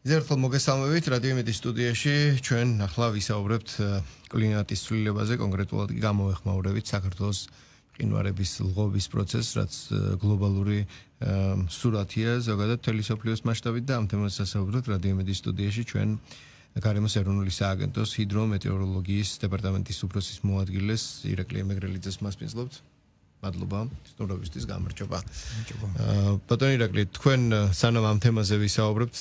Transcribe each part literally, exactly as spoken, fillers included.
Ზერხელ მოგესალმებით რადიო იმედის სტუდიაში ჩვენ ახლა ვისაუბრებთ კლიმატის ცვლილებაზე, კონკრეტულად გამოეხმაურებით საქართველოს მყინვარების ლღობის პროცესს, რაც გლობალური სურათია ზოგადად მთელი მსოფლიოს მასშტაბით და ამ თემაზე ვისაუბრებთ რადიო იმედის სტუდიაში ჩვენ გარემოს ეროვნული სააგენტოს ჰიდრომეტეოროლოგიის დეპარტამენტის უფროსის მოადგილეს ირაკლი მეგრელიძეს მასპინძლობთ. მადლობა სტუმრობისთვის გამარჯობა. ბატონო ირაკლი, თქვენ სანამ ამ თემაზე ვისაუბრებთ,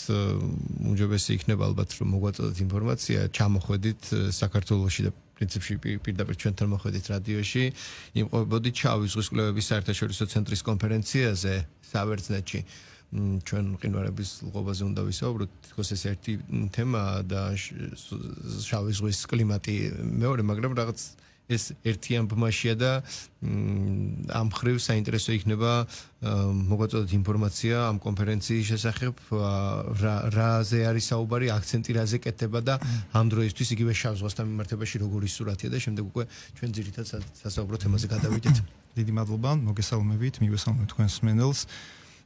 უმჯობესი იქნება ალბათ რომ მოგვაწოდოთ ინფორმაცია, ჩამოხვედით საქართველოში და პრინციპში პირდაპირ ჩვენთან მოხვედით რადიოში, იმყოფებოდით შავი ზღვის კვლევების საერთაშორისო ცენტრის კონფერენციაზე საბერძნეთში. ჩვენ მყინვარების ლღობაზე უნდა ვისაუბროთ, თქოს ეს ერთი თემაა და შავი ზღვის კლიმატი მეორე, მაგრამ რაღაც ეს ერთიან ბმაშია და ამ ხრივ საინტერესო იქნება მოგვაწოდოთ ინფორმაცია ამ კონფერენციის შესახებ, რაზე არის საუბარი, აქცენტი რაზე კეთდება და ამ დროისთვის იგივე შავ ზღვასთან მიმართებაში როგორი სურათია და შემდეგ უკვე ჩვენ ძირითად სასაუბრო თემაზე გადავიდეთ. დიდი მადლობა, მოგესალმებით, მივესალმებ თქვენს მსმენელს.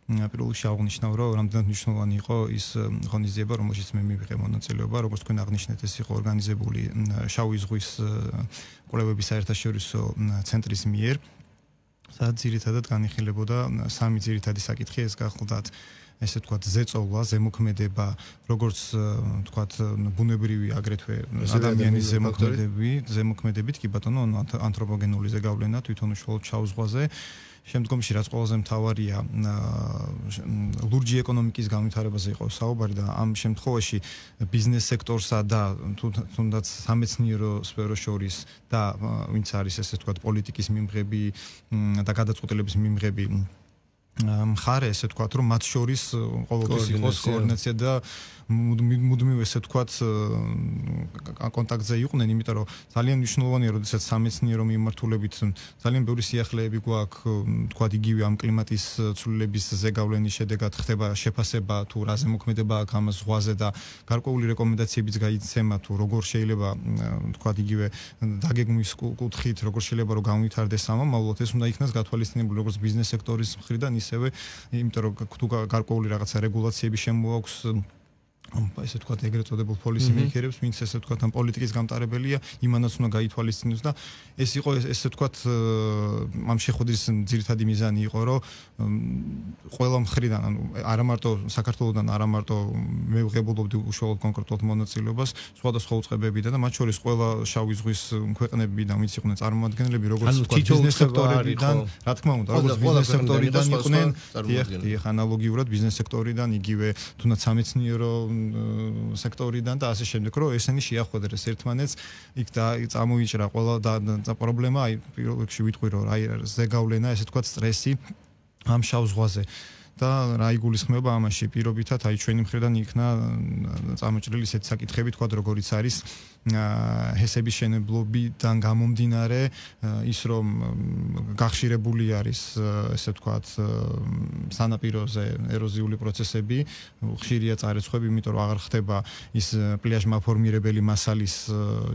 პირველ რიგში აღნიშნავ, რომ რამდენად მნიშვნელოვანი იყო ის ღონისძიება, რომელშიც მე მივიღე მონაწილეობა, როგორც თქვენ აღნიშნეთ, ეს იყო ორგანიზებული შავი ზღვის კვლევების საერთაშორისო ცენტრის მიერ, სადაც ძირითადად განიხილებოდა სამი ძირითადი საკითხი, ეს გახლდათ ესე ვთქვათ, ზეწოლა, ზემოქმედება, როგორც ვთქვათ, ბუნებრივი აგრეთვე ადამიანის ზემოქმედები, ზემოქმედებით, კი ბატონო, ანთროპოგენული ზეგავლენა თვითონ უშუალოდ შავ ზღვაზე. შემდგომში რაც ყველაზე მთავარია, ლურჯი ეკონომიკის განვითარებაზე იყო საუბარი და ამ შემთხვევაში ბიზნეს სექტორსა და თუნდაც სამეცნიერო სფეროს შორის და ვინც არის ესე ვთქვათ, პოლიტიკის მიმღები და გადაწყვეტილების მიმღები მხარე, ესე ვთქვათ, რომ მათ შორის ყოველთვის იყოს კოორდინაცია და მუდმივ ესე ვთქვათ კონტაქტზე იყვნენ, იმიტომ რომ ძალიან მნიშვნელოვანია, როდესაც სამეცნიერო მიმართულებით ძალიან ბევრი სიახლეები გვაქვს, ვთქვათ, იგივე ამ კლიმატის ცვლილების ზეგავლენის შედეგად ხდება შეფასება თუ რა ზემოქმედება აქვს ამ ზღვაზე და გარკვეული რეკომენდაციებიც გაიცემა თუ როგორ შეიძლება, ვთქვათ, იგივე დაგეგმვის კუთხით, როგორ შეიძლება რომ განვითარდეს ამომავლად, ეს უნდა იქნას გათვალისწინებული როგორც ბიზნეს სექტორის მხრიდან, ისევე იმიტომ რომ თუ გარკვეული რაღაცა რეგულაციები შემოაქვს ესე ვთქვათ, ეგრეთ წოდებულ პოლისი მეიქერებს, ვინც ესე ვთქვათ, ამ პოლიტიკის გამტარებელია, იმანაც უნდა გაითვალისწინოს და ეს იყო ესე ვთქვათ, ამ შეხვედრის ძირითადი მიზანი იყო, რომ ყველა მხრიდან, ანუ არა მარტო საქართველოსდან, არა მარტო მე ვღებულობდი უშუალოდ კონკრეტულად მონაწილეობას, სხვადასხვა უწყებებიდან და მათ შორის ყველა შავი ზღვის ქვეყნებიდან, ვინც იყვნენ წარმომადგენლები, როგორც ვთქვათ, ბიზნეს სექტორიდან, რა თქმა უნდა, როგორც ბიზნეს სექტორიდან იყვნენ, დიახ, ანალოგიურად ბიზნეს სექტორიდან, იგივე თუნდაც სამეცნიერო სექტორიდან და ასე შემდეგ, რომ ესენი შეახვედრეს ერთმანეთს, იქ და წამოიჭრა ყველა და პრობლემა, აი პირველ რიგში ვიტყვი, რომ აი ზეგავლენა, ესე ვთქვათ, სტრესი ამ შავ ზღვაზე. და რა იგულისხმება ამაში პირობითად, აი ჩვენი მხრიდან იქნა წამოჭრილი ისეთი საკითხები, თქვა როგორიც არის ჰესების შენებლობიდან გამომდინარე, ის რომ გახშირებული არის, ესე ვთქვათ, სანაპიროზე ეროზიული პროცესები, ხშირია წარეცხები, იმიტომ რომ აღარ ხდება ის პლიაჟმაფორმირებელი მასალის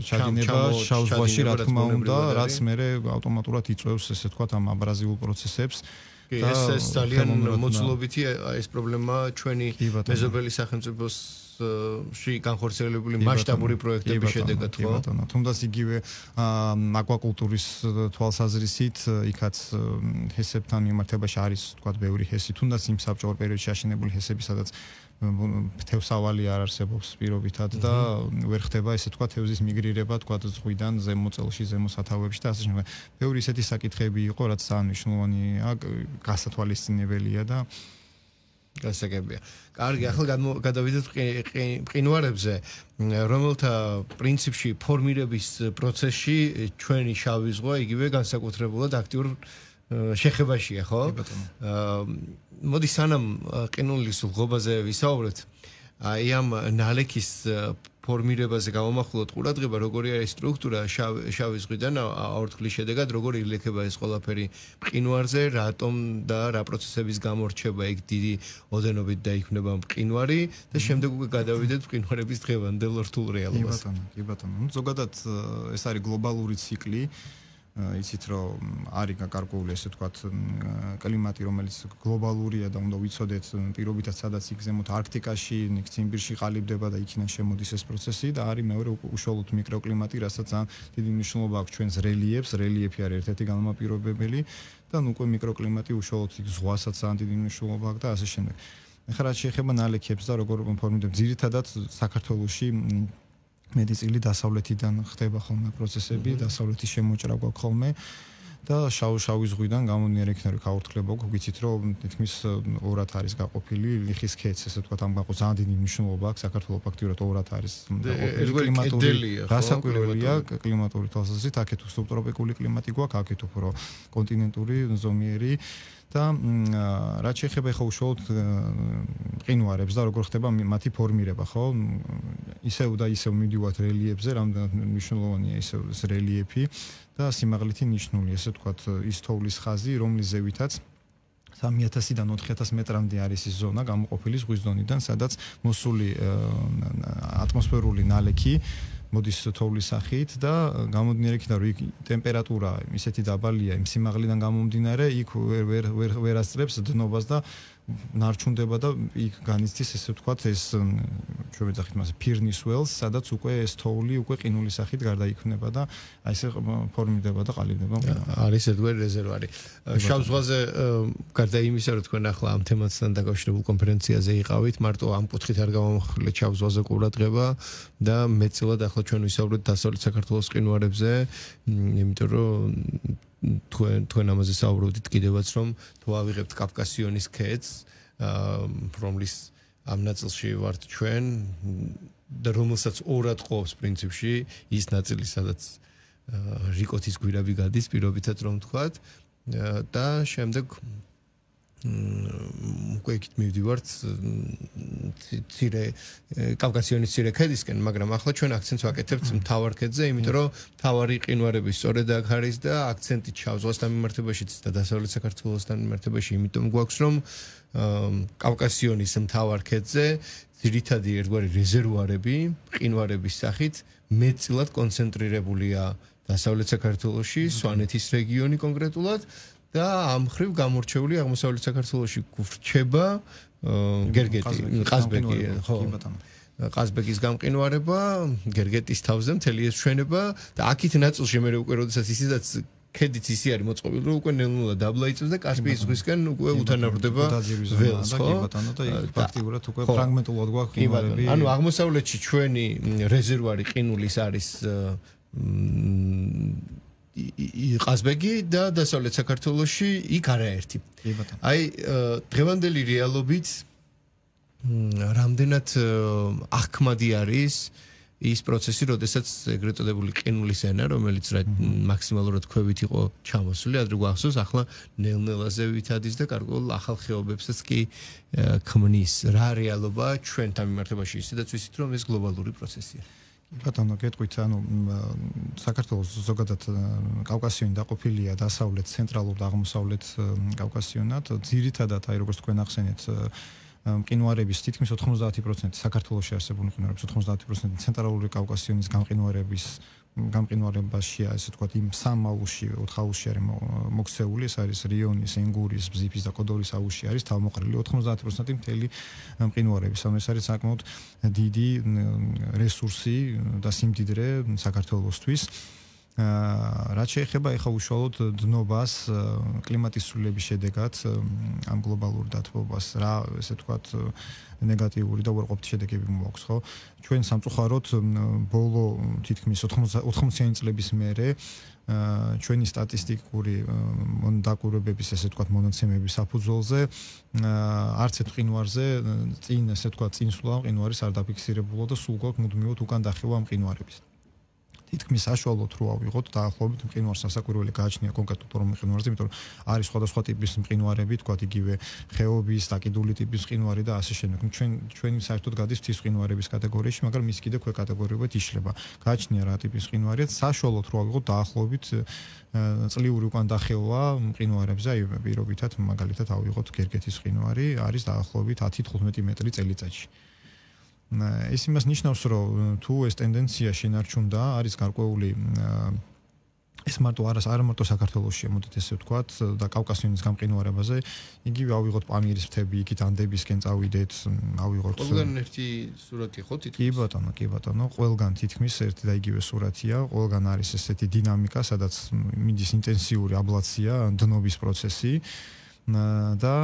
ჩადინება შავ ზღვაში, რა თქმა უნდა, რაც მერე ავტომატურად იწვევს, ესე ვთქვათ, ამ აბრაზიულ პროცესებს. ეს ეს ძალიან მოცულობითი ეს პრობლემა ჩვენი მეზობელი სახელმწიფოსში განხორციელებული მასშტაბური პროექტების შედეგად, ხო? თუნდაც იგივე აკვაკულტურის თვალსაზრისით, იქაც ჰესებთან მიმართებაში არის, თქვათ, ბევრი ჰესი, თუნდაც იმ საბჭოურ პერიოდში აშენებული ჰესები, სადაც თევსავალი არ არსებობს პირობითად და ვერ ხდება, ესე ვთქვათ, თევზის მიგრირება, თქვათ, ზღვიდან ზემოწელში, ზემოსათავეებში და ასე შემდეგ. ბევრი ისეთი საკითხები იყო, რაც ძალიან მნიშვნელოვანია, გასათვალისწინებელია და გასაგებია. კარგი, ახლა გადავიდეთ მყინვარებზე, რომელთა პრინციპში ფორმირების პროცესში ჩვენი შავი ზღვა იგივე განსაკუთრებულად აქტიურ შეხებაშია, ხო? მოდი სანამ ყინულის ლღობაზე ვისაუბრეთ, აი ამ ნალექის ფორმირებაზე გავამახვილოთ ყურადღება, როგორი არის სტრუქტურა შავი ზღვიდან აორთქლის შედეგად, როგორი ილექება ეს ყველაფერი მყინვარზე, რატომ და რა პროცესების გამო რჩება იქ დიდი ოდენობით დაიქმნება მყინვარი და შემდეგ უკვე გადავიდეთ მყინვარების დღევანდელ რთულ რეალობას. კი ბატონო, კი ბატონო. ნუ ზოგადად ეს არის გლობალური ციკლი. იცით რომ არის გარკვეული ესე ვთქვათ კლიმატი რომელიც გლობალურია და უნდა ვიცოდეთ პირობითად სადაც იგზემოთ არქტიკაში, ციმბირში ყალიბდება და იქიდან შემოდის ეს პროცესი და არის მეორე უშუალოდ მიკროკლიმატი, რასაც ძალიან დიდი მნიშვნელობა აქვს ჩვენს რელიეფს, რელიეფი არის ერთ-ერთი განმაპირობებელი და ნუ უკვე მიკროკლიმატი უშუალოდ ზღვასაც ძალიან დიდი მნიშვნელობა აქვს და ასე შემდეგ. ეხლა რაც შეეხება ნალექებს და როგორ ფორმირდება, ძირითადად საქართველოში მეტწილი დასავლეთიდან ხდება ხოლმე პროცესები, დასავლეთის შემოჭრა გვაქვს ხოლმე და შავ-შავი ზღვიდან გამომდინარე იქნება გაურთქლება გვაქვს, ვიცით რომ თითქმის ორად არის გაყოფილი ლიხის ქედს, ესე ვთქვათ, ამ გაყო ძალიან დიდი მნიშვნელობა აქვს საქართველოს ფაქტიურად ორად არის კლიმატური გასაკვირველია კლიმატური თვალსაზრისით, აქეთ სუბტროპიკული კლიმატი გვაქვს, აქეთ უფრო კონტინენტური ზომიერი და რაც შეეხება ხა უშუალოდ მყინვარებს და როგორ ხდება მათი ფორმირება, ხო? ისევ და ისევ მიდივართ რელიეფზე, რამდენად მნიშვნელოვანია ისევ ეს რელიეფი და სიმაღლითი ნიშნული, ესე ვთქვათ, ის თოვლის ხაზი, რომლის ზევითაც სამი ათასიდან ოთხი ათას მეტრამდე არის ის ზონა გამოყოფილი ზღვის დონიდან, სადაც მოსული ატმოსფერული ნალექი მოდის თოვლის სახით და გამომდინარე იქიდან რომ იქ ტემპერატურა ისეთი დაბალია იმ სიმაღლიდან გამომდინარე იქ ვერ ვერ ვერ ასწრებს დნობას და ნარჩუნდება და იქ განიცდის ესე ვთქვათ ეს ჩვენ ვეძახით მას ფირნის ველს, სადაც უკვე ეს თოვლი უკვე ყინულის სახით გარდაიქმნება და აი ესე ფორმირდება და ყალიბდება. არის ერთგვარი რეზერვარი. შავ ზღვაზე გარდა იმისა, რომ თქვენ ახლა ამ თემასთან დაკავშირებულ კონფერენციაზე იყავით, მარტო ამ კუთხით არ გამომხილეთ შავ ზღვაზე ყურადღება და მეტწილად ახლა ჩვენ ვისაუბრეთ დასავლეთ საქართველოს ყინვარებზე, იმიტომ რომ თქვენ თქვენ ამაზე საუბრობდით კიდევაც რომ თუ ავიღებთ კავკასიონის ქედს, რომლის ამ ნაწილში ვართ ჩვენ და რომელსაც ორად ყოფს პრინციპში ის ნაწილი, სადაც რიკოთის გვირაბი გადის პირობითად რომ ვთქვათ და შემდეგ უკვე იქით მივდივართ ცირე კავკასიონის ცირე ქედისკენ, მაგრამ ახლა ჩვენ აქცენტს ვაკეთებთ მთავარ ქედზე, იმიტომ რომ მთავარი ყინვარები სწორედ აქ არის და აქცენტი შავ ზღვასთან მიმართებაშიც და დასავლეთ საქართველოსთან მიმართებაში, იმიტომ გვაქვს რომ კავკასიონის მთავარ ქედზე ძირითადი ერთგვარი რეზერვუარები ყინვარების სახით მეტწილად კონცენტრირებულია დასავლეთ საქართველოში, სვანეთის რეგიონი კონკრეტულად და ამ ხრივ გამორჩეული აღმოსავლეთ საქართველოში გვრჩება გერგეტი, ყაზბეგი, ხო. ყაზბეგის გამყინვარება, გერგეტის თავზე მთელი ეს ჩვენება და აქით ნაწილში მე უკვე როდესაც ისედაც ქედიც ისი არის მოწყობილი, რომ უკვე ნელ-ნელა დაბლა იწევს და კასპიის ზღვისკენ უკვე უთანაბრდება ველს, ხო? და ფაქტიურად უკვე ფრაგმენტულად გვაქვს ყინვარები. ანუ აღმოსავლეთში ჩვენი რეზერვარი ყინულის არის ყაზბეგი და დასავლეთ საქართველოში იქ არაერთი. აი დღევანდელი რეალობით რამდენად აღქმადი არის ის პროცესი, როდესაც ეგრეთ წოდებული ყინულის ენა, რომელიც მაქსიმალურად ქვევით იყო ჩამოსული, ადრე გვახსოვს, ახლა ნელ-ნელაზე ვითადის და გარკვეულ ახალ ხეობებსაც კი ქმნის. რა რეალობა ჩვენთან მიმართებაში, ისედაც ვიცით, რომ ეს გლობალური პროცესია. ბატონო, გეტყვით, ანუ საქართველოს ზოგადად კავკასიონი დაყოფილია დასავლეთ, ცენტრალურ და აღმოსავლეთ კავკასიონად. ძირითადად, აი როგორც თქვენ ახსენეთ, მყინვარების თითქმის ოთხმოცდაათი პროცენტი საქართველოში არსებული მყინვარების ოთხმოცდაათი პროცენტი ცენტრალური კავკასიონის გამყინვარების გამყინვარებაშია, ესე ვთქვათ, იმ სამ აუზში, ოთხ აუზში არის მოქცეული, ეს არის რიონის, ენგურის, ბზიფის და კოდორის აუზში არის თავმოყრილი ოთხმოცდაათი პროცენტი მთელი მყინვარების. ანუ ეს არის საკმაოდ დიდი რესურსი და სიმდიდრე საქართველოსთვის. რაც შეეხება ეხა უშუალოდ დნობას კლიმატის ცვლილების შედეგად ამ გლობალურ დათბობას, რა ესე ვთქვათ ნეგატიური და უარყოფითი შედეგები მოაქვს, ხო? ჩვენ სამწუხაროდ ბოლო თითქმის ოთხმოციანი წლების მერე ჩვენი სტატისტიკური დაკვირვებების ესე ვთქვათ მონაცემების საფუძველზე არც ერთ მყინვარზე წინ ესე ვთქვათ წინსვლა მყინვარის არ დაფიქსირებულა და სულ გვაქვს მუდმივად უკან დახევა მყინვარების. თითქმის საშუალოდ რო ავიღოთ დაახლოებით მყინვარს სასაკვირველი გააჩნია კონკრეტულ რომ მყინვარზე, იმიტომ რომ არის სხვადასხვა ტიპის მყინვარები, თქვათ იგივე ხეობის, დაკიდული ტიპის მყინვარი და ასე შემდეგ. ჩვენ ჩვენი საერთოდ გადის მთის მყინვარების კატეგორიაში, მაგრამ ის კიდე ქვე კატეგორიებად იშლება. გააჩნია რა ტიპის მყინვარია, საშუალოდ რო ავიღოთ დაახლოებით წლიური უკან დახევა მყინვარებზე, აი პირობითად მაგალითად ავიღოთ გერგეთის მყინვარი, არის დაახლოებით ათი თხუთმეტი მეტრი წელიწადში. ეს იმას ნიშნავს, რომ თუ ეს ტენდენცია შენარჩუნდა, არის გარკვეული ეს მარტო არა არა მარტო საქართველოში მოდით ესე ვთქვათ და კავკასიონის გამყინვარებაზე იგივე ავიღოთ პამირის მთები იქით ანდებისკენ წავიდეთ ავიღოთ ყველგან ერთი სურათი ხო თითქმის კი ბატონო კი ბატონო ყველგან თითქმის ერთი და იგივე სურათია ყველგან არის ესეთი დინამიკა სადაც მიდის ინტენსიური აბლაცია დნობის პროცესი და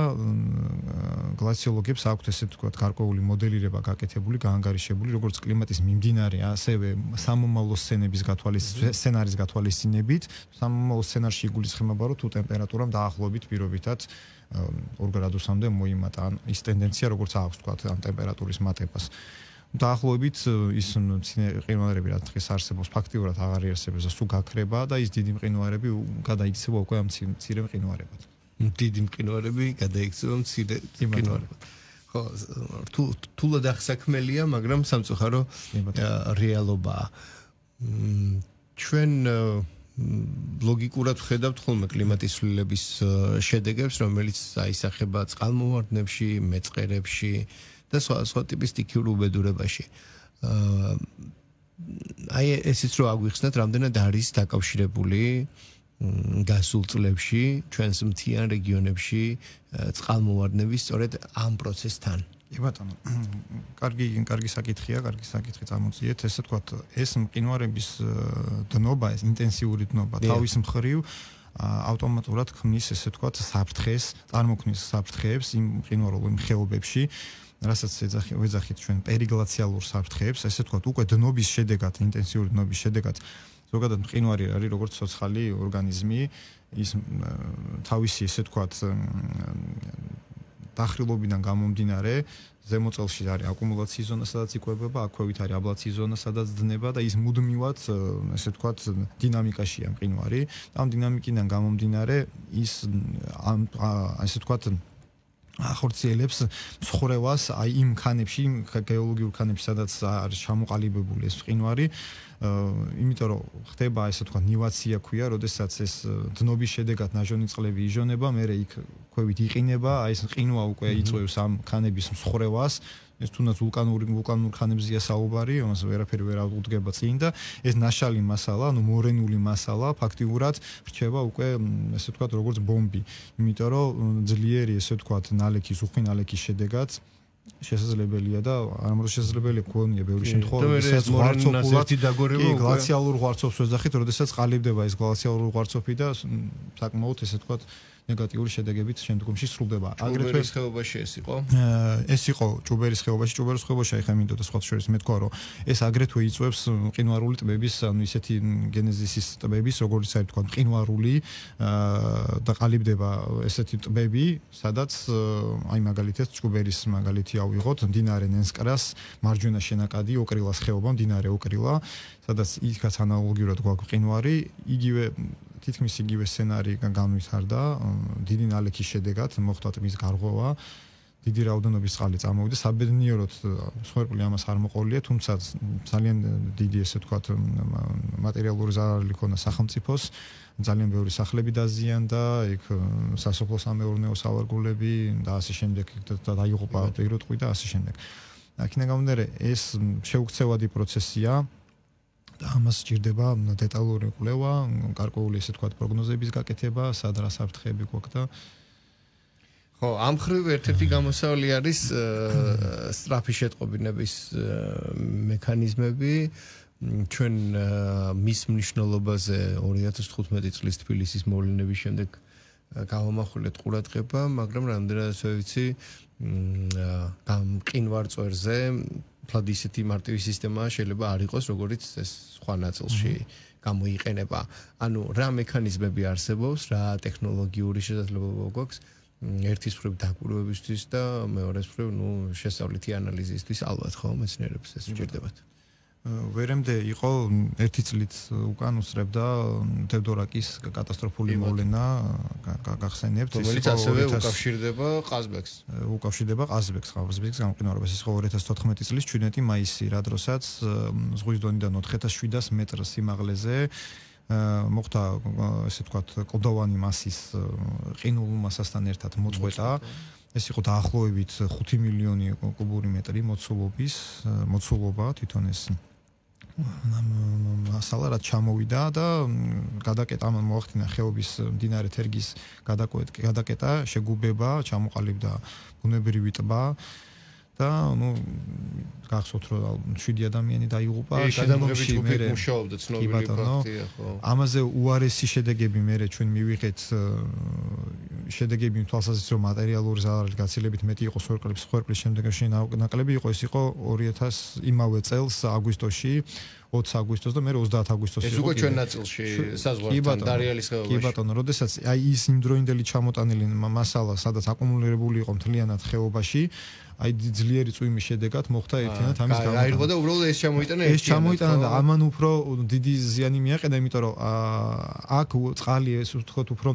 გლაციოლოგებს აქვთ ესე ვთქვათ გარკვეული მოდელირება გაკეთებული, გაანგარიშებული, როგორც კლიმატის მიმდინარე, ასევე სამომავლო სცენების გათვალისწინებით, სცენარის გათვალისწინებით, სამომავლო სცენარში იგულისხმება, რომ თუ ტემპერატურამ დაახლოებით პირობითად ორ გრადუსამდე მოიმატა, ან ის ტენდენცია როგორც აქვს ვთქვათ, ამ ტემპერატურის მატებას. დაახლოებით ის მყინვარები რაც დღეს არსებობს, ფაქტიურად აღარ იარსებებს და სულ გაქრება და ის დიდი მყინვარები გადაიქცევა უკვე ამ მცირე მყინვარებად. დიდი მყინვარები გადაიქცევა მცირე მყინვარებად. ხო, რთულად აღსაქმელია, მაგრამ სამწუხარო რეალობაა. ჩვენ ლოგიკურად ვხედავთ ხოლმე კლიმატის ცვლილების შედეგებს, რომელიც აისახება წყალმოვარდნებში, მეწყერებში და სხვა სხვა ტიპის სტიქიურ უბედურებაში. აი ესეც რო აგვიხსნათ, რამდენად არის დაკავშირებული გასულ წლებში ჩვენს მთიან რეგიონებში წყალმოვარდნების სწორედ ამ პროცესთან. კი ბატონო. კარგი კარგი საკითხია, კარგი საკითხი წამოწიეთ. ესე ვთქვათ, ეს მყინვარების დნობა, ეს ინტენსიური დნობა თავის მხრივ ავტომატურად ქმნის ესე ვთქვათ საფრთხეს, წარმოქმნის საფრთხეებს იმ მყინვარულ ხეობებში, რასაც ეძახით ჩვენ პერიგლაციალურ საფრთხეებს, ესე ვთქვათ, უკვე დნობის შედეგად, ინტენსიური დნობის შედეგად ზოგადად მყინვარი არის როგორც ცოცხალი ორგანიზმი, ის თავისი ესე ვთქვათ დახრილობიდან გამომდინარე ზემო წელში არის აკუმულაციის ზონა, სადაც იკვებება, აქვევით არის აბლაციის ზონა, სადაც დნება და ის მუდმივად ესე ვთქვათ დინამიკაშია მყინვარი. ამ დინამიკიდან გამომდინარე ის ესე ვთქვათ ახორციელებს მსხრევას აი იმ ქანებში, იმ გეოლოგიურ ქანებში, სადაც არის ჩამოყალიბებული ეს მყინვარი, იმიტომ რომ ხდება ესე ვთქვათ ნივაცია ქვია, როდესაც ეს დნობის შედეგად ნაჟონი წყლები ижоნება, მერე იქ ქვევით იყინება, აი ეს მყინვა უკვე იწვევს ამ ქანების მსხრევას. ეს თუნდაც ვულკანური ვულკანურ ქანებზია საუბარი, ამას ვერაფერი ვერ აღუდგება წინ და ეს ნაშალი მასალა, ანუ მორენული მასალა ფაქტიურად რჩება უკვე ესე ვთქვათ როგორც ბომბი, იმიტომ რომ ძლიერი ესე ვთქვათ ნალექის, უხვი ნალექის შედეგად შესაძლებელია და არამედ შესაძლებელია გქონია ბევრი შემთხვევა, ეს ღვარცოფულად დაგორება უკვე გლაციალურ ღვარცოფს ვეძახით, როდესაც ყალიბდება ეს გლაციალური ღვარცოფი და საკმაოდ ესე ვთქვათ ნეგატიური შედეგებით შემდგომში სრულდება. აგრეთვე ეს ხეობაში ეს იყო? ეს იყო ჭუბერის ხეობაში, ჭუბერის ხეობაში აი ხა მინდოდა სხვა შორის მე თქვა რომ ეს აგრეთვე იწვევს მყინვარული ტბების, ანუ ისეთი გენეზისის ტბების, როგორც აი თქვა მყინვარული და ყალიბდება ესეთი ტბები, სადაც აი მაგალითად ჭუბერის მაგალითი ავიღოთ, მდინარე ნენსკრას მარჯვენა შენაკადი ოკრილას ხეობა, მდინარე ოკრილა, სადაც იქაც ანალოგიურად გვაქვს მყინვარი, იგივე თითქმის იგივე სცენარი განვითარდა დიდი ნალექის შედეგად მოხდა ტბის გარღვევა, დიდი რაოდენობის წყალი წამოვიდა, საბედნიეროდ მსხვერპლი ამას არ მოყოლია, თუმცა ძალიან დიდი ესე ვთქვათ მატერიალური ზარალი ჰქონდა სახელმწიფოს, ძალიან ბევრი სახლები დაზიანდა, იქ სასოფლო-სამეურნეო სავარგულები და ასე შემდეგ და დაიღუპა პირუტყვი და ასე შემდეგ. აქედან გამომდინარე ეს შეუქცევადი პროცესია და ამას სჭირდება დეტალური კვლევა, გარკვეული ესე ვთქვათ პროგნოზების გაკეთება, სად რა საფრთხეები გვაქვს და ხო, ამ ხრივ ერთ-ერთი გამოსავალი არის სწრაფი შეტყობინების მექანიზმები. ჩვენ მის მნიშვნელობაზე ორი ათას თხუთმეტი წლის თბილისის მოვლენების შემდეგ გავამახვილეთ ყურადღება, მაგრამ რამდენადაც ვიცი, გამყინვარ წვერზე ფლად ისეთი მარტივი სისტემა შეიძლება არ იყოს, როგორც ეს სხვა ნაწილში გამოიყენება. ანუ რა მექანიზმები არსებობს, რა ტექნოლოგიური შესაძლებლობა გვაქვს ერთის მხრივ დაკვირვებისთვის და მეორეს მხრივ, ნუ შესწავლითი ანალიზისთვის ალბათ ხო მეცნიერებს ეს სჭირდებათ. ვერემდე იყო ერთი წლით უკან უსწრებდა თევდორაკის კატასტროფული მოვლენა გახსენებთ, რომელიც ასევე უკავშირდება ყაზბეგს. უკავშირდება ყაზბეგს, ყაზბეგის გამყინვარებას. ის იყო ორი ათას თოთხმეტი წლის ჩვიდმეტი მაისი, რა დროსაც ზღვის დონიდან ოთხ ათას შვიდას მეტრ სიმაღლეზე მოხდა ესე ვთქვათ კლდოვანი მასის ყინულ მასასთან ერთად მოწყვეტა. ეს იყო დაახლოებით ხუთი მილიონი კუბური მეტრი მოცულობის, მოცულობა თვითონ ეს მასალა რაც ჩამოვიდა და გადაკეტა მოახდინა ხეობის მდინარე თერგის გადაკეტა, შეგუბება, ჩამოყალიბდა ბუნებრივი ტბა და ნუ გახსოვთ რომ შვიდი ადამიანი დაიღუპა შემდგომში მე მუშაობდა ცნობილი ფაქტია ხო ამაზე უარესი შედეგები მე ჩვენ მივიღეთ შედეგები თვალსაზრისით რომ მატერიალური ზარალი გაცილებით მეტი იყო სვერკლის სვერკლის შემდეგში ნაკლები იყო ეს იყო ორი ათასი იმავე წელს აგვისტოში ოცი აგვისტოს და მე ოცდაათი აგვისტოს იყო ეს უკვე ჩვენ ნაწილში საზღვართან დარიალის ხეობაში კი ბატონო როდესაც აი ის იმდროინდელი ჩამოტანილი მასალა სადაც აკუმულირებული იყო მთლიანად ხეობაში აი ძლიერი წვიმის შედეგად მოხდა ერთიანად ამის გამო. აიღო და უბრალოდ ეს ჩამოიტანა ეს ჩამოიტანა და ამან უფრო დიდი ზიანი მიაყენა, იმიტომ რომ აქ წყალი ეს ვთქვათ უფრო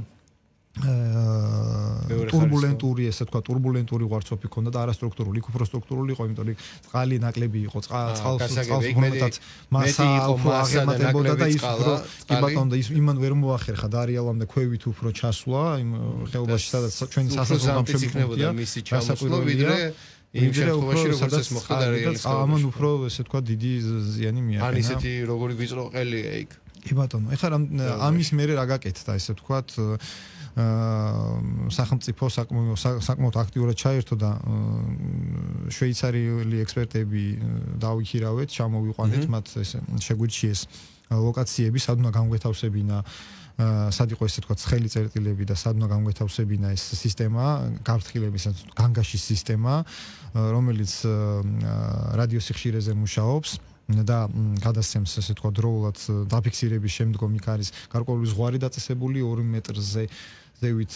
турбулентური ესე თქვა турбулентური ვარცოფი ქონდა და არასტრუქტურული, იქ უფრო სტრუქტურული იყო, იმიტომ რომ წყალი ნაკლები იყო, წყალს წყალს მომეტად მასა უფრო აღემატებოდა და ის უფრო კი ბატონო და ის იმან ვერ მოახერხა დარიალამდე ქვევით უფრო ჩასვლა იმ ხეობაში სადაც ჩვენი სასაზღვრო გამშვებია მისი ჩამოსვლა ვიდრე იმ შემთხვევაში როგორც ეს მოხდა დარიალის ხეობაში ამან უფრო ესე თქვა დიდი ზიანი მიაყენა ან ისეთი როგორი ვიწრო ყელია იქ კი ბატონო ეხლა ამის მერე რა გაკეთდა ესე თქვა სახელმწიფო საკმაოდ აქტიურად ჩაერთო და შვეიცარიელი ექსპერტები დაუიხირავეთ, ჩამოვიყვანეთ მათ ეს შეგვირჩიეს ლოკაციები, სად უნდა განგვეთავსებინა სად იყო ესე თქვა ცხელი წერტილები და სად უნდა განგვეთავსებინა ეს სისტემა, გაფრთხილების განგაშის სისტემა, რომელიც რადიოსიხშირეზე მუშაობს და გადასცემს ესე თქვა დროულად დაფიქსირების შემდგომ იქ არის გარკვეული ზღვარი დაწესებული ორი მეტრზე ზევით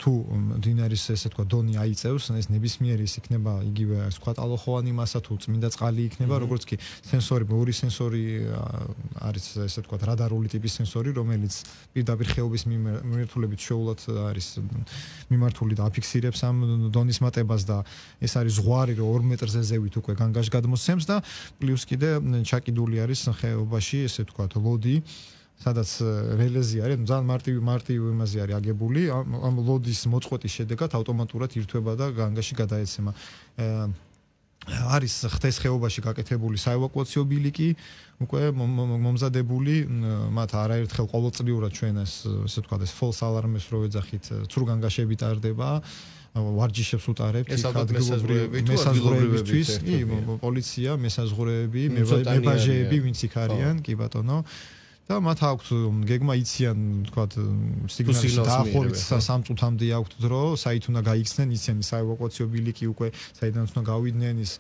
თუ მდინარის ესე თქვა დონი აიწევს ეს ნებისმიერი ის იქნება იგივე ასე თქვა ტალოხოვანი მასა თუ წმინდა წყალი იქნება როგორც კი სენსორი ორი სენსორი არის ესე თქვა რადარული ტიპის სენსორი რომელიც პირდაპირ ხეობის მიმართულებით შეულად არის მიმართული და აფიქსირებს ამ დონის მატებას და ეს არის ზღვარი რომ ორი მეტრზე ზევით უკვე განგაშ გადმოსცემს და პლუს კიდე ჩაკიდული არის ხეობაში ესე თქვა ლოდი სადაც რელეზი არის, ძალიან მარტივი მარტივი იმაზე არის აგებული, ამ ლოდის მოწყვეტის შედეგად ავტომატურად ირთვება და განგაში გადაეცემა. არის ხთეს ხეობაში გაკეთებული საევაკუაციო ბილიკი, უკვე მომზადებული, მათ არაერთხელ ყოველწლიურად ჩვენ ეს ესე ვთქვათ, ეს false alarm-ს რო ეძახით, ცრუ განგაშები ტარდება. ვარჯიშებს უტარებთ ადგილობრივები თუ ადგილობრივებისთვის, კი, პოლიცია, მესაზღვრეები, მებაჟეები, ვინც იქ არიან, კი ბატონო. და მათ აქვთ გეგმა იციან, თქვათ, სიგნალის დაახლოებით სამ წუთამდე აქვთ დრო, საით უნდა გაიქცნენ, იციან საევაკუაციო ბილიკი უკვე, საიდან უნდა გავიდნენ ის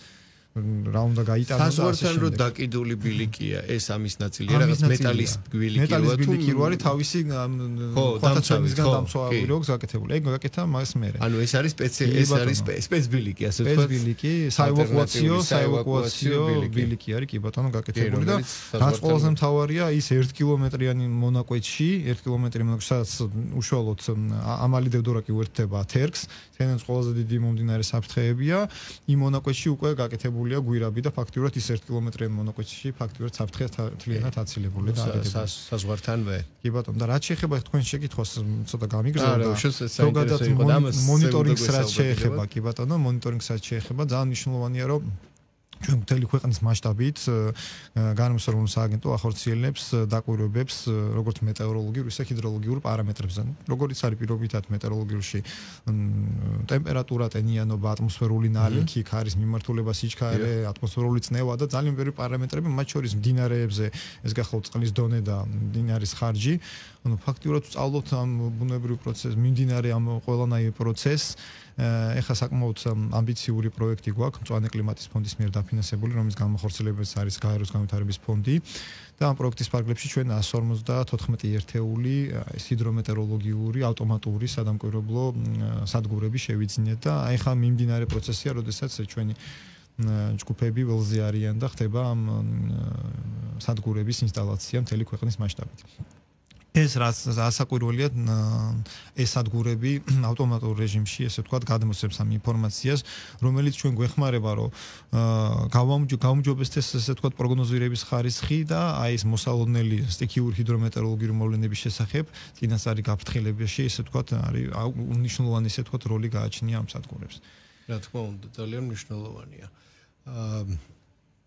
რა უნდა გაიტანოს საზღვართან რო დაკიდული ბილიკია, ეს ამის ნაწილია, რაღაც მეტალის ბილიკი როა თუ მეტალის ბილიკი რო არის თავისი ხო, დამცავისგან დამცავი რო გაკეთებული. ეგ გაკეთა მას მერე. ანუ ეს არის სპეციალი, ეს არის სპეც ბილიკი, ასე ვთქვათ. სპეც ბილიკი, საევაკუაციო, საევაკუაციო ბილიკი არის, კი ბატონო, გაკეთებული და რაც ყველაზე მთავარია, ის ერთი კილომეტრიანი მონაკვეთში, ერთი კილომეტრი მონაკვეთში, სადაც უშუალოდ ამალი დევდორაკი უერთდება თერგს, თენს ყველაზე დიდი მომდინარე საფრთხეებია, იმ მონაკვეთში უკვე გაკეთებული გვირაბი და ფაქტიურად ის ერთი კილომეტრიანი მონაკვეთში ფაქტიურად საფრთხე თლიანად აცილებული და არის საზღვართანვე. კი ბატონო, და რაც შეეხება თქვენ შეკითხვას ცოტა გამიგზავნა. ზოგადად მონიტორინგს რაც შეეხება, კი ბატონო, მონიტორინგს რაც შეეხება, ძალიან მნიშვნელოვანია, რომ ჩვენ მთელი ქვეყნის მასშტაბით განმსწორებულ სააგენტო ახორციელებს დაკვირვებებს როგორც მეტეოროლოგიურ, ისე ჰიდროლოგიურ პარამეტრებზე. როგორც არის პირობითად მეტეოროლოგიურში ტემპერატურა, ტენიანობა, ატმოსფერული ნალექი, ქარის მიმართულება, სიჩქარე, ატმოსფერული წნევა და ძალიან ბევრი პარამეტრები, მათ შორის მდინარეებზე, ეს გახლავთ წყლის დონე და მდინარის ხარჯი. ანუ ფაქტიურად ვწავლობთ ამ ბუნებრივ პროცესს, მიმდინარე ამ ყველანაირ პროცესს. ეხლა საკმაოდ ამბიციური პროექტი გვაქვს მწვანე კლიმატის ფონდის მიერ დაფინანსებული, რომლის განმახორციელებაც არის გაეროს განვითარების ფონდი და ამ პროექტის ფარგლებში ჩვენ εκατს ორმოცდათოთხმეტი ერთეული ჰიდრომეტეოროლოგიური ავტომატური სადამკვირვებლო სადგურები შევიძინეთ და აი ხა მიმდინარე პროცესია, როდესაც ჩვენი ჯგუფები ველზე არიან და ხდება ამ სადგურების ინსტალაცია მთელი ქვეყნის მასშტაბით. ეს რაც ასაკვირველია ეს სადგურები ავტომატურ რეჟიმში ესე ვთქვათ გადმოსცემს ამ ინფორმაციას რომელიც ჩვენ გვეხმარება რომ გავამჯობესდეს ესე ვთქვათ პროგნოზირების ხარისხი და აი ეს მოსალოდნელი სტიქიური ჰიდრომეტეოროლოგიური მოვლენების შესახებ წინასწარი გაფრთხილებაში ესე ვთქვათ არის უნიშნულოვანი ესე ვთქვათ როლი გააჩნია ამ სადგურებს. რა თქმა უნდა ძალიან მნიშვნელოვანია. აა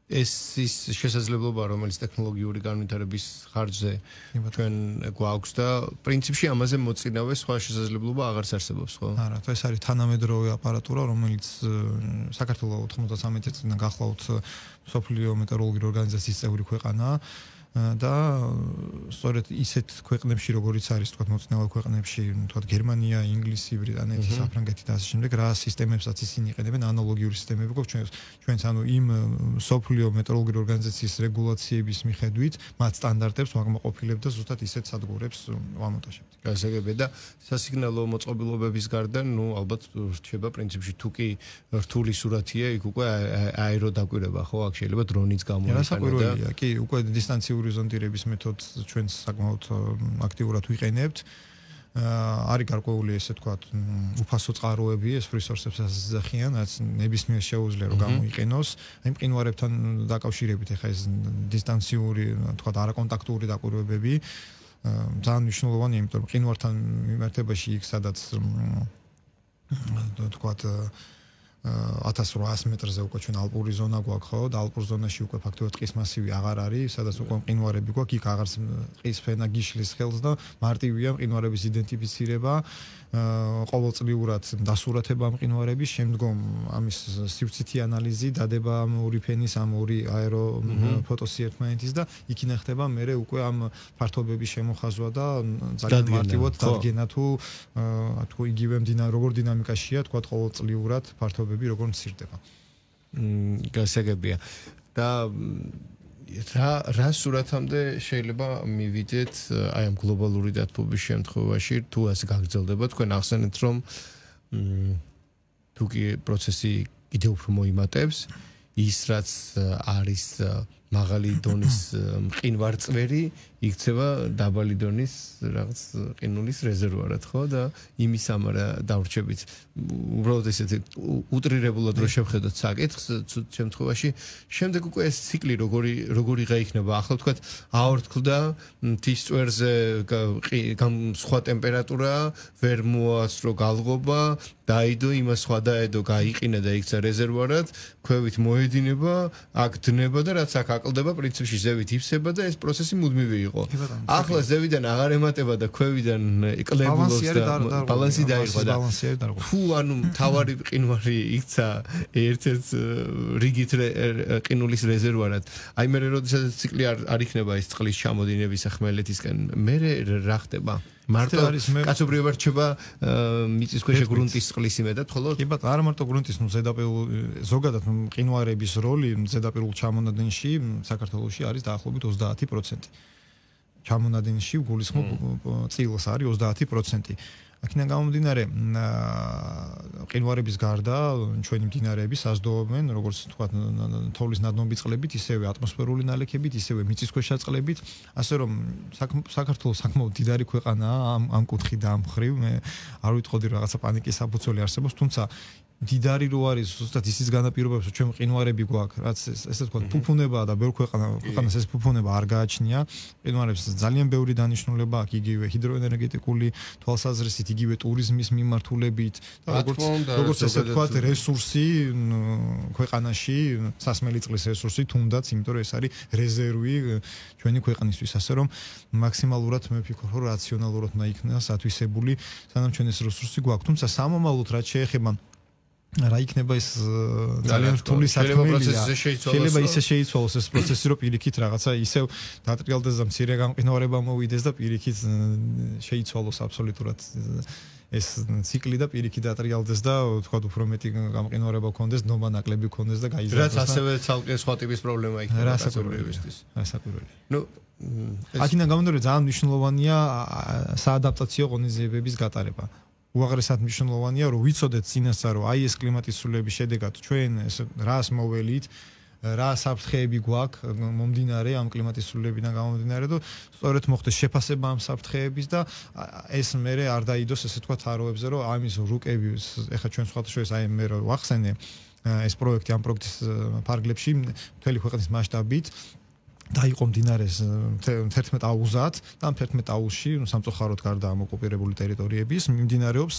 ეს ის შესაძლებლობა, რომელიც ტექნოლოგიური განვითარების ხარჯზე ჩვენ გვაქვს და პრინციპში ამაზე მოწინავე სხვა შესაძლებლობა აღარც არსებობს, ხო? არა, ეს არის თანამედროვე აპარატურა, რომელიც საქართველოს ოთხმოცდამეტი წლიდან გახლავთ მსოფლიო მეტეოროლოგიური ორგანიზაციის წევრი ქვეყანაა. და სწორედ ისეთ ქვეყნებში როგორიც არის თქვა მოწინავე ქვეყნებში თქვა გერმანია, ინგლისი, ბრიტანეთი, საფრანგეთი და ასე შემდეგ რა სისტემებსაც ისინი იყენებენ ანალოგიური სისტემები გვაქვს ჩვენ ჩვენც ანუ იმ სოფლიო მეტეოროლოგიური ორგანიზაციის რეგულაციების მიხედვით მათ სტანდარტებს ვაკმაყოფილებთ და ზუსტად ისეთ სადგურებს ვამონტაჟებთ. გასაგებია და სასიგნალო მოწყობილობების გარდა ნუ ალბათ რჩება პრინციპში თუ კი რთული სურათია იქ უკვე აეროდაკვირება ხო აქ შეიძლება დრონიც გამოიყენოს და კი უკვე დისტანციური ზონდირების მეთოდს ჩვენს საკმაოდ აქტიურად ვიყენებთ. არის გარკვეული ესე თქვა უფასო წყაროები ეს resource-ებს ასახიან, რაც ნებისმიერ შეუძლია რომ გამოიყენოს. აი მყინვარებთან დაკავშირებით ეხა ეს დისტანციური თქვა არაკონტაქტური დაკვირვებები ძალიან მნიშვნელოვანია, იმიტომ რომ მყინვართან მიმართებაში იქ სადაც თქვა ათას რვაას მეტრზე უკვე ჩვენ ალპური ზონა გვაქვს ხო და ალპურ ზონაში უკვე ფაქტობრივად ტყის მასივი აღარ არის, სადაც უკვე მყინვარები გვაქვს, იქ აღარც ტყის ფენა გიშლის ხელს და მარტივია მყინვარების იდენტიფიცირება, ყოველწლიურად დასურათება მყინვარების, შემდგომ ამის სივრცითი ანალიზი, დადება ამ ორი ფენის, ამ ორი აერო ფოტოსი ერთმანეთის და იქ ინახება მერე უკვე ამ ფართობების შემოხაზვა და ძალიან მარტივად დადგენა თუ თუ იგივე მდინარე როგორ დინამიკაშია თქვა ყოველწლიურად ფართობები როგორ მცირდება. მმ გასაგებია. და რა რა სურათამდე შეიძლება მივიდეთ აი ამ გლობალური დათბობის შემთხვევაში თუ ასე გაგრძელდება თქვენ ახსენეთ რომ თუ კი პროცესი კიდევ უფრო მოიმატებს ის რაც არის მაღალი დონის მყინვარწვერი იქცევა დაბალი დონის რაღაც ყინულის რეზერვუარად ხო და იმის ამარა დავრჩებით უბრალოდ ესეთი უტრირებულად რო შევხედოთ საკითხს შემთხვევაში შემდეგ უკვე ეს ციკლი როგორი როგორიღა იქნება ახლა ვთქვათ აორთქლდა მთის წვერზე სხვა ტემპერატურა ვერ მოასწრო გალღობა დაიდო იმას სხვა დაედო გაიყინა და იქცა რეზერვუარად ქვევით მოედინება აქ დნება და რაც აქ აკლდება პრინციპში ზევით იფსება და ეს პროცესი მუდმივი იყო. ახლა ზევიდან აღარ ემატება და ქვევიდან კლებულობს და ბალანსი დაიღო და თუ ანუ თავარი ყინვარი იქცა ერთ-ერთ რიგით ყინულის რეზერვუარად. აი მე როდესაც ციკლი არ იქნება ეს წყლის ჩამოდინების ხმელეთისკენ მე რა ხდება? მარტო კაცობრიობა რჩება მიწისქვეშა გრუნტის წყლის იმედად ხოლო? კი ბატონო, არა მარტო გრუნტის, ნუ ზედაპირულ ზოგადად მყინვარების როლი ზედაპირულ ჩამონადენში საქართველოში არის დაახლოებით ოცდაათი პროცენტი. ჩამონადენში გულისხმობ წილს არის ოცდაათი პროცენტი. აქედან გამომდინარე მყინვარების გარდა ჩვენი მდინარეები საზრდოობენ როგორც თქვა თოვლის ნადნობი წყლებით, ისევე ატმოსფერული ნალექებით, ისევე მიწისქვეშა წყლებით, ასე რომ საქართველოს საკმაოდ დიდარი ქვეყანაა ამ ამ კუთხით და ამ მხრივ მე არ ვიტყოდი რაღაცა პანიკის საფუძველი არსებობს, თუმცა დიდარი რო არის ზუსტად ისიც განაპირობებს რომ ჩვენ მყინვარები გვაქვს, რაც ესე თქვა ფუფუნებაა და ბევრ ქვეყანა ქვეყანას ეს ფუფუნება არ გააჩნია. მყინვარებს ძალიან ბევრი დანიშნულება აქვს იგივე ჰიდროენერგეტიკული თვალსაზრისით, იგივე ტურიზმის მიმართულებით და როგორც როგორც ესე თქვა რესურსი ქვეყანაში, სასმელი წყლის რესურსი თუნდაც, იმიტომ რომ ეს არის რეზერვი ჩვენი ქვეყნისთვის, ასე რომ მაქსიმალურად მე ვფიქრობ რომ რაციონალურად უნდა იქნას ათვისებული, სანამ ჩვენ ეს რესურსი გვაქვს. თუმცა სამომავლოდ რაც შეეხება რა იქნება ეს ძალიან რთული საქმეა. შეიძლება ისე შეიცვალოს ეს პროცესი, რომ პირიქით რაღაცა ისევ დატრიალდეს და მცირე გამყინვარება მოვიდეს და პირიქით შეიცვალოს აბსოლუტურად ეს ციკლი და პირიქით დატრიალდეს და თქვა უფრო მეტი გამყინვარება გქონდეს, ნობა ნაკლები გქონდეს და გაიზარდოს. რაც ასევე ცალკე სხვა ტიპის პრობლემა იქნება კაცობრიობისთვის. რასაკვირველია. ნუ აქედან გამომდინარე ძალიან მნიშვნელოვანია საადაპტაციო ღონისძიებების გატარება. უაღრესად მნიშვნელოვანია რომ ვიცოდეთ წინასწარ რომ აი ეს კლიმატის ცვლილების შედეგად ჩვენ ეს რას მოველით რა საფრთხეები გვაქვს მომდინარე ამ კლიმატის ცვლილებიდან გამომდინარე და სწორედ მოხდეს შეფასება ამ საფრთხეების და ეს მერე არ დაიდოს ესე თქვა თაროებზე რომ ამის რუკები ეხა ჩვენ სხვადასხვა აი მე რო ვახსენე ეს პროექტი ამ პროექტის ფარგლებში მთელი ქვეყნის მასშტაბით დაიყო მდინარეს თერთმეტ აუზად და ამ თერთმეტ აუზში სამწუხაროდ გარდა ამ ოკუპირებული ტერიტორიების მიმდინარეობს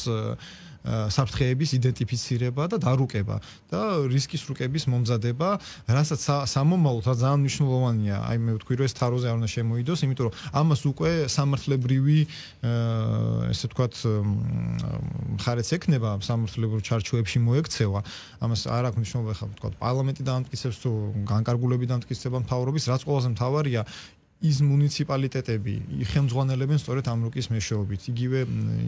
საფრთხეების იდენტიფიცირება და დარუკება და რისკის რუკების მომზადება, რასაც სამომავლოდ ძალიან მნიშვნელოვანია. აი მე ვთქვი, რომ ეს თაროზე არ უნდა შემოიდოს, იმიტომ რომ ამას უკვე სამართლებრივი ესე ვთქვათ მხარეც ექნება, სამართლებრივ ჩარჩოებში მოექცევა. ამას არ აქვს მნიშვნელობა ხა ვთქვათ პარლამენტი დაამტკიცებს თუ განკარგულები დაამტკიცება მთავრობის, რაც ყველაზე მთავარია ის მუნიციპალიტეტები ხელმძღვანელებენ სწორედ ამ რუკის მეშვეობით. იგივე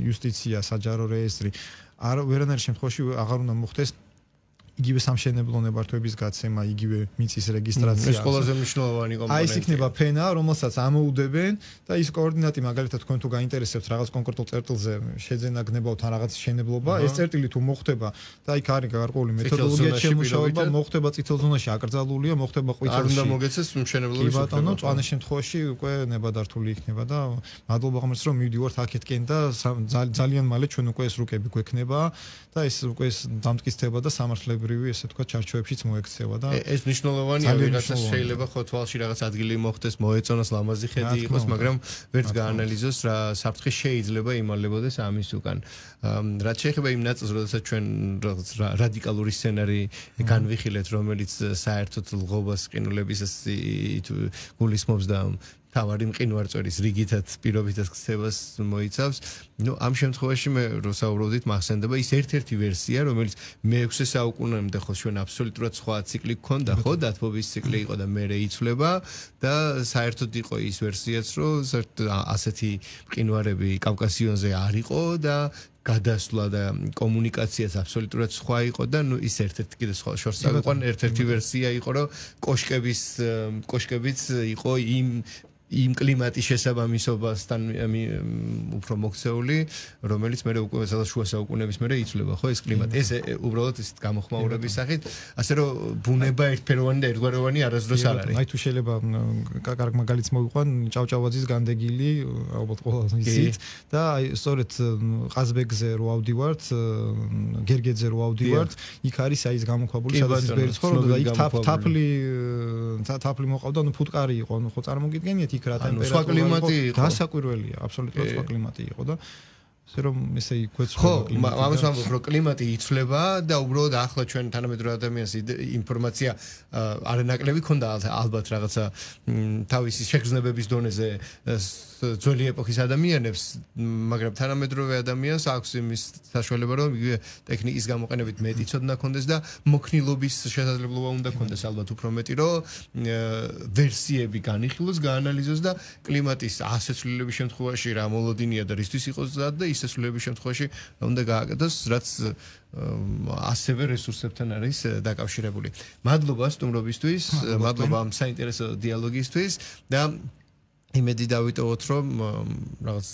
იუსტიცია, საჯარო რეესტრი არ ვერანაირ შემთხვევაში აღარ უნდა მოხდეს იგივე სამშენებლო ნებართვების გაცემა, იგივე მიწის რეგისტრაცია. ეს ყველაზე მნიშვნელოვანი კომპონენტია. აი ეს იქნება ფენა, რომელსაც ამოუდებენ და ის კოორდინატი მაგალითად თქვენ თუ გაინტერესებთ რაღაც კონკრეტულ წერტილზე შეძენა გნებავთ ან რაღაც შენებლობა, ეს წერტილი თუ მოხდება და იქ არის გარკვეული მეთოდოლოგია შემუშავება, მოხდება წითელ ზონაში აკრძალულია, მოხდება ყვითელში. არ უნდა მოგეცეს მშენებლობის უფლება. კი ბატონო, წვანის შემთხვევაში უკვე ნებადართული იქნება და მადლობა ღმერთს რომ მივდივართ აქეთკენ და ძალიან მალე ჩვენ უკვე ეს რუკები გვექნება და ეს უკვე ეს დამტკიცდება და სამართლებრივი ესე თქვა ჩარჩოებშიც მოექცევა და ეს მნიშვნელოვანია, ვიღაცას შეიძლება ხო თვალში რაღაც ადგილი მოხდეს, მოეწონოს, ლამაზი ხედი იყოს, მაგრამ ვერც გაანალიზოს რა საფრთხე შეიძლება იმალებოდეს ამის უკან. რაც შეეხება იმ ნაწილს, როდესაც ჩვენ რაღაც რადიკალური სცენარი განვიხილეთ, რომელიც საერთოდ ლღობას ყინულების გულისხმობს და თავარი მყინვარწვერის რიგითად პირობითად ქცევას მოიცავს. ნუ ამ შემთხვევაში მე რო საუბრობდით, მახსენდება ის ერთ-ერთი ვერსია, რომელიც მეექვსე საუკუნემდე ხო ჩვენ აბსოლუტურად სხვა ციკლი გქონდა, ხო, დათბობის ციკლი იყო და მერე იცვლება და საერთოდ იყო ის ვერსიაც, რომ ასეთი მყინვარები კავკასიონზე არ იყო და გადასვლა და კომუნიკაციაც აბსოლუტურად სხვა იყო და ნუ ის ერთ-ერთი კიდე სხვა შორს აყვან ერთ-ერთი ვერსია იყო, რომ კოშკების კოშკებიც იყო იმ იმ კლიმატის შესაბამისობასთან უფრო მოქცეული, რომელიც მე უკვე სადაც შუა საუკუნეების მერე იცვლება, ხო ეს კლიმატი. ეს უბრალოდ ისეთ გამოხმაურების სახით, ასე რომ ბუნება ერთფეროვანი და ერთგვაროვანი არასდროს არ არის. აი თუ შეიძლება კარგ მაგალითს მოვიყვან, ჭავჭავაძის განდეგილი, ალბათ ყველას იცით და აი სწორედ ყაზბეგზე რო ავდივართ, გერგეძე რო ავდივართ, იქ არის აი ეს გამოქვაბული, სადაც ბერი ცხოვრობდა და იქ თაფლი თაფლი მოყავდა, ნუ ფუტკარი იყო, ნუ ხო წარმოგიდგენიათ იქ რა ტემპერატურა სხვა კლიმატი იყო. დასაკვირველია, აბსოლუტურად სხვა კლიმატი იყო და ასე რომ ესე იქვეცვა კლიმატი. ხო, ამას ვამბობ, რომ კლიმატი იცვლება და უბრალოდ ახლა ჩვენ თანამედროვე ადამიანს ინფორმაცია არანაკლები ქონდა ალბათ რაღაცა თავისი შეგრძნებების დონეზე ძველი ეპოქის ადამიანებს, მაგრამ თანამედროვე ადამიანს აქვს იმის საშუალება, რომ იგივე ტექნიკის გამოყენებით მეტი ცოდნა ქონდეს და მოქნილობის შესაძლებლობა უნდა ქონდეს ალბათ უფრო მეტი, რომ ვერსიები განიხილოს, გაანალიზოს და კლიმატის ასეცვლილების შემთხვევაში რა მოლოდინია და რისთვის იყოს ზად და ისესვლილების შემთხვევაში უნდა გააკეთოს, რაც ასევე რესურსებთან არის დაკავშირებული. მადლობა სტუმრობისთვის, მადლობა ამ საინტერესო დიალოგისთვის და იმედი დავიტოვოთ, რომ რაღაც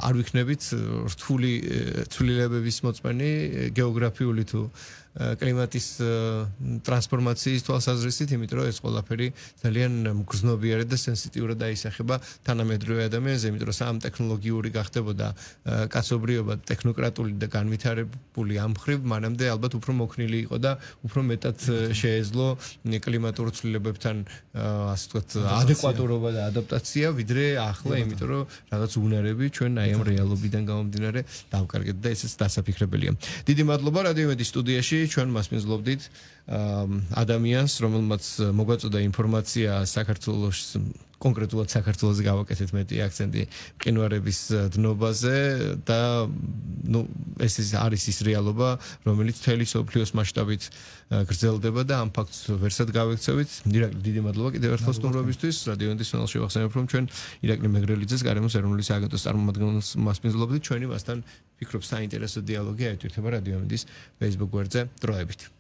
არ ვიქნებით რთული ცვლილებების მოწმენი გეოგრაფიული თუ კლიმატის ტრანსფორმაციის თვალსაზრისით, იმიტომ რომ ეს ყველაფერი ძალიან მგრძნობიარე და სენსიტიურად დაისახება თანამედროვე ადამიანზე, იმიტომ რომ სამ ტექნოლოგიური გახდებოდა კაცობრიობა ტექნოკრატული და განვითარებული ამ მხრივ, მანამდე ალბათ უფრო მოქნილი იყო და უფრო მეტად შეეძლო კლიმატურ ცვლილებებთან ასე ვთქვათ ადეკვატურობა და ადაპტაცია, ვიდრე ახლა, იმიტომ რომ რაღაც უნარები ჩვენ აი ამ რეალობიდან გამომდინარე დავკარგეთ და ესეც დასაფიქრებელია. დიდი მადლობა რადიო იმედის სტუდიაში ჩვენ მასპინძლობდით ადამიანს, რომელმაც მოგვაწოდა ინფორმაცია საქართველოს კონკრეტულად საქართველოს გავაკეთეთ მეტი აქცენტი მყინვარების დნობაზე და ნუ ეს არის ის რეალობა, რომელიც მთელი მსოფლიოს მასშტაბით გრძელდება და ამ ფაქტს ვერსად გავექცევით. ირაკლი, დიდი მადლობა კიდევ ერთხელ სტუმრობისთვის. რადიო იმედის სანალში შევახსენებ, რომ ჩვენ ირაკლი მეგრელიძეს გარემოს ეროვნული სააგენტოს წარმომადგენელს მასპინძლობდით. ჩვენი მასთან ფიქრობ საინტერესო დიალოგი აერთვირთება რადიო იმედის Facebook გვერდზე დროებით.